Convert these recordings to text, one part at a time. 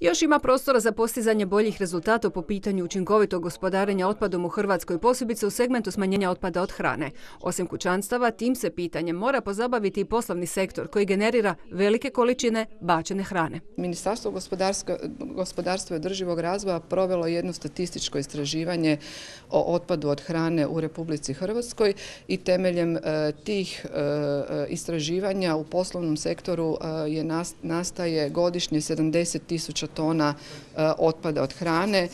Još ima prostora za postizanje boljih rezultata po pitanju učinkovitog gospodarenja otpadom u Hrvatskoj, posebice u segmentu smanjenja otpada od hrane. Osim kućanstava, tim se pitanjem mora pozabaviti i poslovni sektor koji generira velike količine bačene hrane. Ministarstvo gospodarstva i održivog razvoja provelo jedno statističko istraživanje o otpadu od hrane u Republici Hrvatskoj i temeljem tih istraživanja u poslovnom sektoru nastaje godišnje 70.000 tona otpada od hrane,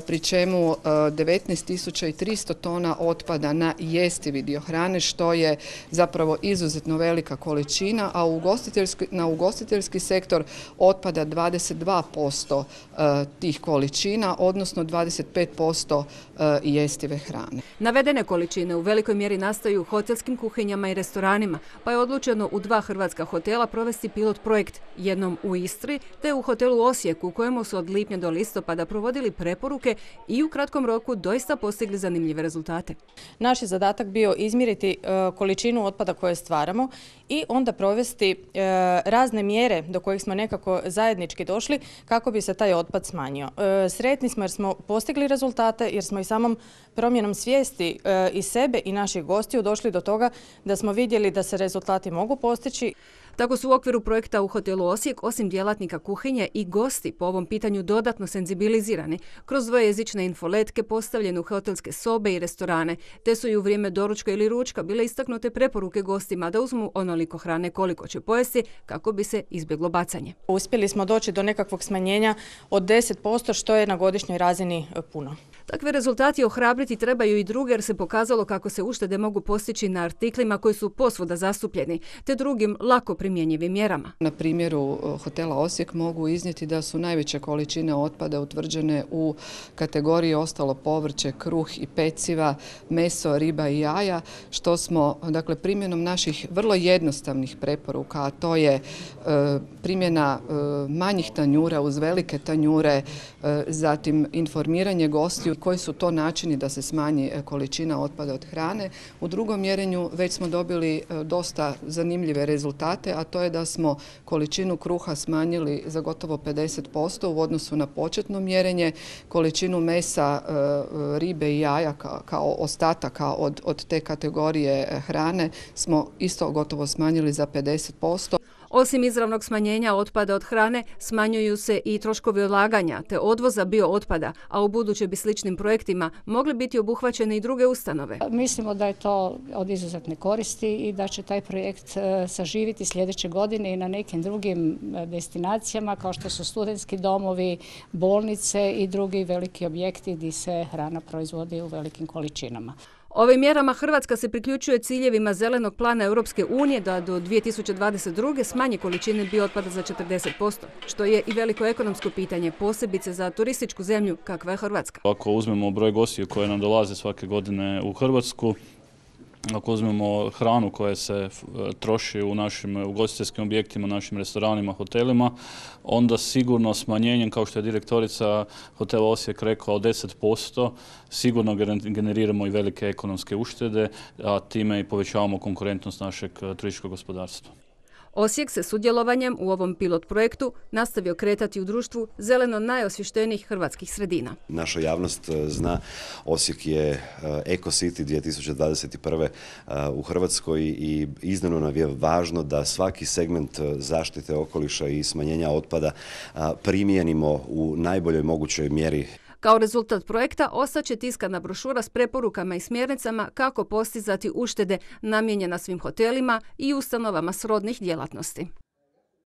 pri čemu 19.300 tona otpada na jestivi dio hrane, što je zapravo izuzetno velika količina, a na ugostiteljski sektor otpada 22% tih količina, odnosno 25% jestive hrane. Navedene količine u velikoj mjeri nastaju u hotelskim kuhinjama i restoranima, pa je odlučeno u 2 hrvatska hotela provesti pilot projekt, jednom u Istri te u hotelu Osijeku, u kojemu su od lipnja do listopada provodili preporuke i u kratkom roku doista postigli zanimljive rezultate. Naš je zadatak bio izmjeriti količinu otpada koje stvaramo i onda provesti razne mjere do kojih smo nekako zajednički došli kako bi se taj otpad smanjio. Sretni smo jer smo postigli rezultate, jer smo i samom promjenom svijesti i sebe i naših gostiju došli do toga da smo vidjeli da se rezultati mogu postići. Tako su u okviru projekta u hotelu Osijek, osim djelatnika kuhinje, i gosti po ovom pitanju dodatno senzibilizirani kroz dvojezične infoletke postavljene u hotelske sobe i restorane, te su i u vrijeme doručka ili ručka bile istaknute preporuke gostima da uzmu onoliko hrane koliko će pojesti kako bi se izbjeglo bacanje. Uspjeli smo doći do nekakvog smanjenja od 10%, što je na godišnjoj razini puno. Takve rezultati ohrabriti trebaju i druge, jer se pokazalo kako se uštede mogu postići na artiklima koji su posvuda zastupljeni, te drugim lako primjenjivim mjerama. Na primjeru hotela Osijek mogu iznijeti da su najveće količine otpada utvrđene u kategoriji ostalo povrće, kruh i peciva, meso, riba i jaja, što smo, dakle, primjenom naših vrlo jednostavnih preporuka, a to je primjena manjih tanjura uz velike tanjure, zatim informiranje gostiju koji su to načini da se smanji količina otpada od hrane. U drugom mjerenju već smo dobili dosta zanimljive rezultate, a to je da smo količinu kruha smanjili za gotovo 50% u odnosu na početno mjerenje, količinu mesa, ribe i jaja kao ostataka od te kategorije hrane smo isto gotovo smanjili za 50%. Osim izravnog smanjenja otpada od hrane, smanjuju se i troškovi odlaganja te odvoza biootpada, a u buduće bi sličnim projektima mogli biti obuhvaćene i druge ustanove. Mislimo da je to od izuzetne koristi i da će taj projekt saživiti sljedeće godine i na nekim drugim destinacijama kao što su studentski domovi, bolnice i drugi veliki objekti gdje se hrana proizvodi u velikim količinama. Ovim mjerama Hrvatska se priključuje ciljevima Zelenog plana Europske unije da do 2022. smanji količine biootpada za 40%, što je i veliko ekonomsko pitanje, posebice za turističku zemlju kakva je Hrvatska. Ako uzmemo broj gostiju koje nam dolaze svake godine u Hrvatsku, ako uzmemo hranu koja se troši u našim ugostiteljskim objektima, našim restoranima, hotelima, onda sigurno smanjenjem, kao što je direktorica hotela Osijek rekla, od 10%, sigurno generiramo i velike ekonomske uštede, a time i povećavamo konkurentnost našeg turističkog gospodarstva. Osijek se sudjelovanjem u ovom pilot projektu nastavio kretati u društvu zeleno najosvještenijih hrvatskih sredina. Naša javnost zna, Osijek je Eco City 2021. U Hrvatskoj i iznimno nam je važno da svaki segment zaštite okoliša i smanjenja otpada primijenimo u najboljoj mogućoj mjeri. Kao rezultat projekta ostaće tiskana brošura s preporukama i smjernicama kako postizati uštede namijenjena svim hotelima i ustanovama srodnih djelatnosti.